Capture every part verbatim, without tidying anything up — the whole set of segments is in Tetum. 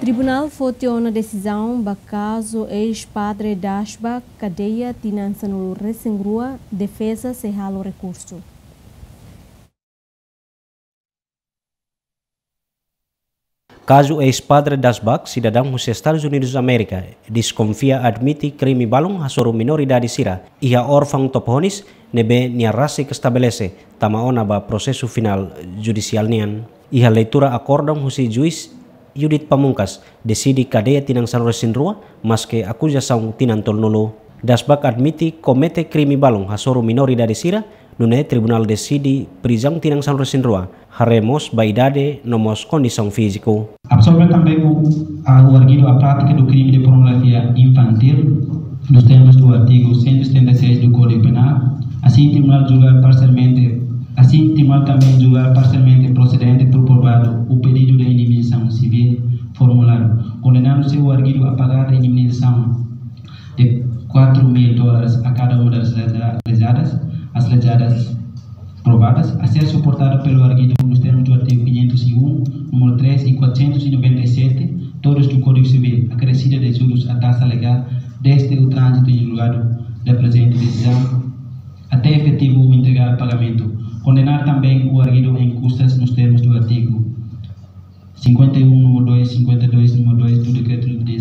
Tribunál foti ona desizaun ba kazu eis-padre Dasbach, kadeia tinan sanulu-resin-rua, defeza sei halo rekursu. Kazu eis-padre Dasbach, sidadaun husi Estadus Unidus Amérika, deskonfia admite krime balun hasoru minoridade sira iha órfaun Topohonis, ne'ebé nia rasik estabelese tama ona ba prosesu finál judisiál nian. Iha leitura akordaun husi juís Judith Pamungkas, deside kadeia tinan sanulu-resin-rua, maske akuzasaun tinan tolunulu. Dasbach admite komete krime balun hasoru minoridade sira, nune'e tribunál deside prizaun tinan sanulu-resin-rua, haree mós ba idade no mós kondisaun fíziku. Absorve também o, a, o arguido à prática do crime de pornografia infantil, nos termos do artigo cento e setenta e seis do Código Penal, assim tribunal julgar parcialmente, assim tribunal também julgar parcialmente procedente por provado o pedido de indemnização civil formulado, condenando-se o arguido a pagar a indemnização de quatro mil dólares a cada uma das leza-, lezadas, as lezadas provadas, a ser suportada pelo arguido nos termos do artigo quinhentos e um, número três e quatrocentos e noventa e sete, todos do Código Civil, acrescida de juros a taxa legal desde o trânsito em julgado da presente decisão até efetivo o integral pagamento. Condenar também o arguido em custas nos termos do artigo cinquenta e um, número dois, cinquenta e dois, número dois do decreto de,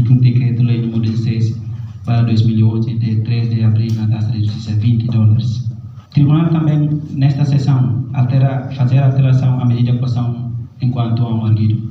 do decreto-lei número dezasseis barra dois mil e onze, de três de abril, na taxa de justiça vinte dólares. Tribunal também, nesta sessão, altera, fazer alteração à medida de coação enquanto a um arguido.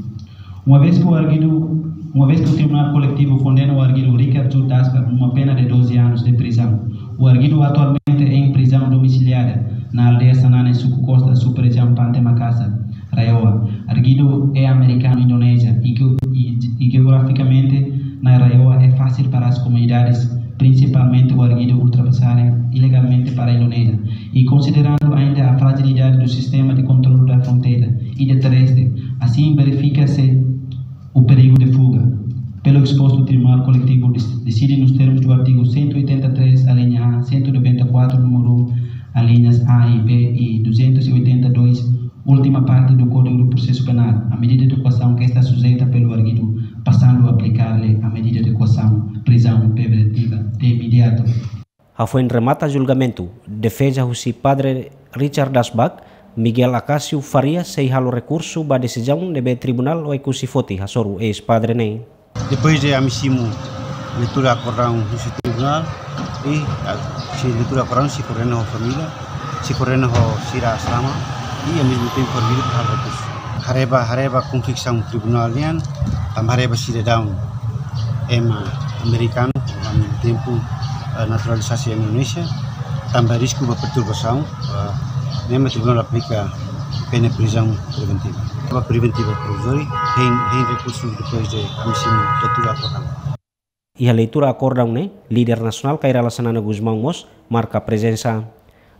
Uma vez que o arguido, uma vez que o Tribunal Coletivo condena o arguido Richard Judas a uma pena de doze anos de prisão, o arguido atualmente é em prisão domiciliada na aldeia Sanane, Suku Costa, subregião Pante Makasar, RAEOA. Arguido é americano-indonésia e, e, e geograficamente na RAEOA é fácil para as comunidades, principalmente o arguido, ultrapassarem ilegalmente para a Indonésia. E considerando ainda a fragilidade do sistema de controle da fronteira e de terrestre, assim verifica-se o perigo de fuga. Pelo exposto, o Tribunal Coletivo dec-, decide nos termos do artigo cento e oitenta e três, alínea A, cento e noventa e quatro, número um, alíneas A e B, e duzentos e oitenta e dois, última parte do Código do Processo Penal, a medida de coação que está sujeita pelo arguido, passando a aplicar-lhe a medida de coação, prisão preventiva de imediato. Hafoin remata julgamentu, defeza husi Padre Richard Dasbach, Miguel Acácio Faria, sei halo rekursu ba desizaun ne'ebé tribunál Oekusi foti hasoru eis-padre ne'e. Depois de ami simu leitura akordaun husi tribunál, i, ah, sei leitura akordaun sei koordena ho família, sei koordena ho sira asrama, i ao mesmo tempo halo rekursu. Haree ba, haree ba konviksaun tribunál nian, tanba haree ba sidadaun ema amerikanu, ami tempu, eh, naturalizasaun Indonézia, tanba risku ba perturbasaun, eh, ne'e mak tribunál aplika pena prizaun preventiva. Ba preventiva provizória, hein, hein rekursu depois de ami simu leitura akordaun. Iha leitura akordaun ne'e, líder nasionál Kay Rala Xanana Gusmão mós marka prezensa.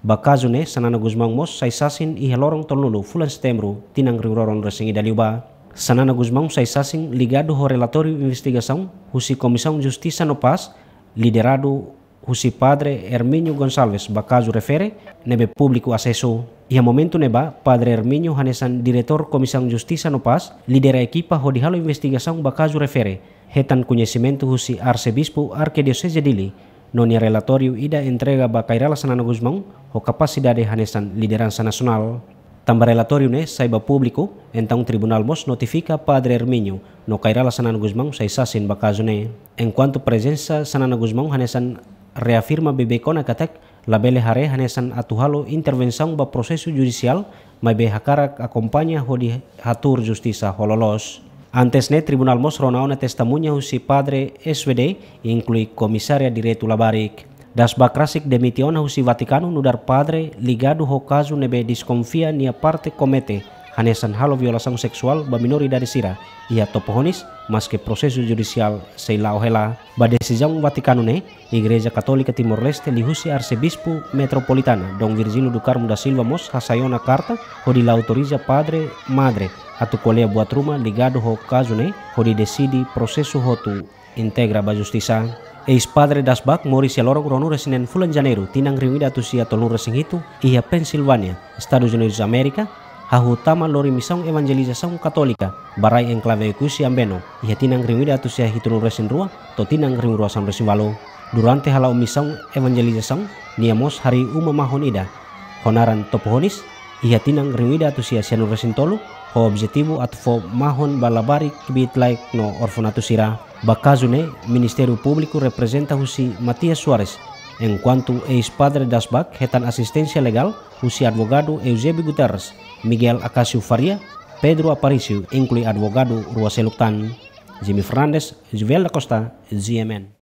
Ba kazu ne'e, Xanana Gusmão mós sai sasin iha loron tolunulu fulan Setembru, tinan rihun rua ruanulu resin ida liubá. Xanana Gusmão sai sasin ligadu ho relatóriu investigasaun husi Komisaun Justisa no Pás, lideradu husi Padre Hermínio Gonçalves ba kazu refere, ne'ebé públiku asesu. Iha momentu ne'ebá, Padre Hermínio hanesan diretór Komisaun Justisa no Pás, lidera ekipa hodi halo investigasaun ba kazu refere, hetan koñesimentu husi Arsebispu Arkidioseze Dili, no nia relatóriu ida entrega ba Kay Rala Xanana Gusmão ho kapasidade hanesan lideransa nasionál. Tanba relatóriu ne'e sai ba públiku, entaun tribunál mós notifika Padre Hermínio no Kay Rala Xanana Gusmão sai sasin ba kazu ne'e. Enkuantu prezensa Xanana Gusmão hanesan reafirma beibeik ona katak labele haree hanesan atu halo intervensaun ba prosesu judisiál, maibé hakarak akompaña hodi hatuur justisa ho loloos. Antes ne'e, tribunál mós rona ona testemuña husi Padre S W D, inklui komisária direitu labarik. Dasbach rasik demite ona husi Vatikanu nu'udar padre ligadu ho kazu ne'ebé deskonfia nia parte komete, hanesan halo violasaun seksuál ba minoridade sira iha Topohonis, maske prosesu judisiál sei la'o hela. Ba desizaun Vatikanu ne'e, Igreja Katólika Timor-Leste liuhusi Arsebispu Metropolitana, Dom Virgílio do Carmo da Silva mós hasai ona karta hodi la autoriza padre, madre atu ko'alia buat ruma ligadu ho kazu ne'e, hodi deside prosesu hotu integra ba justisa. Eis-padre Dasbach moris iha loron ruanulu resin neen fulan Janeiru, tinan rihun ida atus sia tolunulu resin hitu, iha Pensilvania, Estadus Unidus Amérika, hahú tama lori misaun evanjelizasaun katólika ba rai enklave Oekusi Ambeno, iha tinan rihun ida atus sia hitunulu resin rua to'o tinan rihun rua sanulu resin ualu. Durante hala'o misaun evanjelizasaun, nia mós harii uma mahon ida ho naran Topohonis, iha tinan rihun ida atus sia sianulu resin tolu, ho objetivu atu fó mahon ba labarik, kbiit-laek no orfanatu sira. Ba kazu ne'e, Ministériu Públiku reprezenta husi Matias Soares, enkuantu eis-padre Dasbach hetan asisténsia legál husi advogadu Eusébio Guterres, Miguel Acácio Faria, Pedro Aparício, inklui advogadu rua seluk tan. Jimmy Fernandes, Juvel da Costa, G M N.